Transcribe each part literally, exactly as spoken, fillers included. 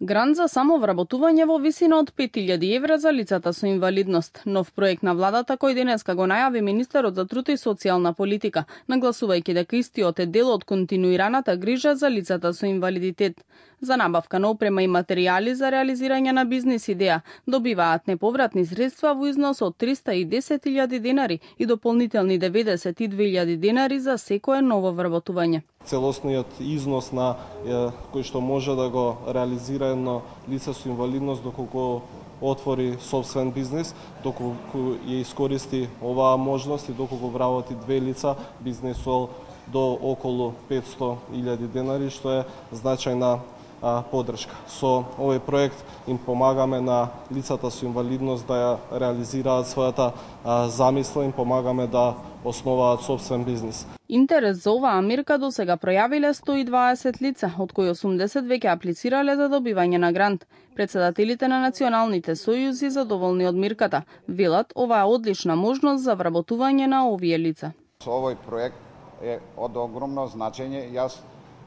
Грант за самовработување во висина од пет илјади евра за лицата со инвалидност. Нов проект на владата кој денеска го најави министерот за труд и социјална политика, нагласувајќи дека истиот е дел од континуираната грижа за лицата со инвалидитет. За набавка на опрема и материјали за реализирање на бизнис идеја добиваат неповратни средства во износ од триста и десет илјади денари и дополнителни деветдесет и две илјади денари за секое ново вработување. Целосниот износ на е, кој што може да го реализира едно лице со инвалидност доколку отвори собствен бизнис, доколку ја искористи оваа можност и доколку вработи две лица, бизнесол до околу петсто илјади денари, што е значајна а, поддршка. Со овој проект им помагаме на лицата со инвалидност да ја реализираат својата а, замисла, им помагаме да основаат собствен бизнис. Интерес за оваа мерка до сега пројавиле сто и дваесет лица, од кои осумдесет веќе аплицирале за добивање на грант. Председателите на националните сојузи задоволни од мерката велат ова е одлична можност за вработување на овие лица. Со овој проект е од огромно значење. Јас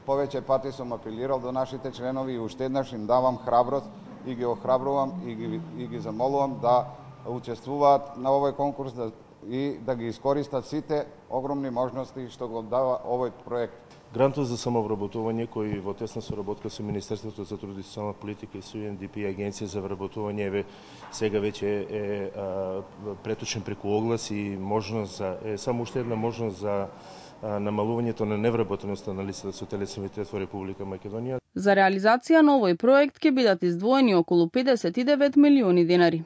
повеќе пати сум апелирал до нашите членови и уште еднаш им давам храброст и ги охрабрувам и ги, и ги замолувам да учествуваат на овој конкурс да, и да ги искористат сите огромни можности што го дава овој проект. Грантот за самовработување кој во тесна соработка со Министерството за труд и социјална политика и со Ю Ен Ди Пи и Агенција за вработување е сега веќе е а, преточен преку оглас и можност за е само уште една можност за а, намалувањето на невработеноста на лицата со телесен инвалидитет во Република Македонија. За реализација на овој проект ќе бидат издвоени околу педесет и девет милиони денари.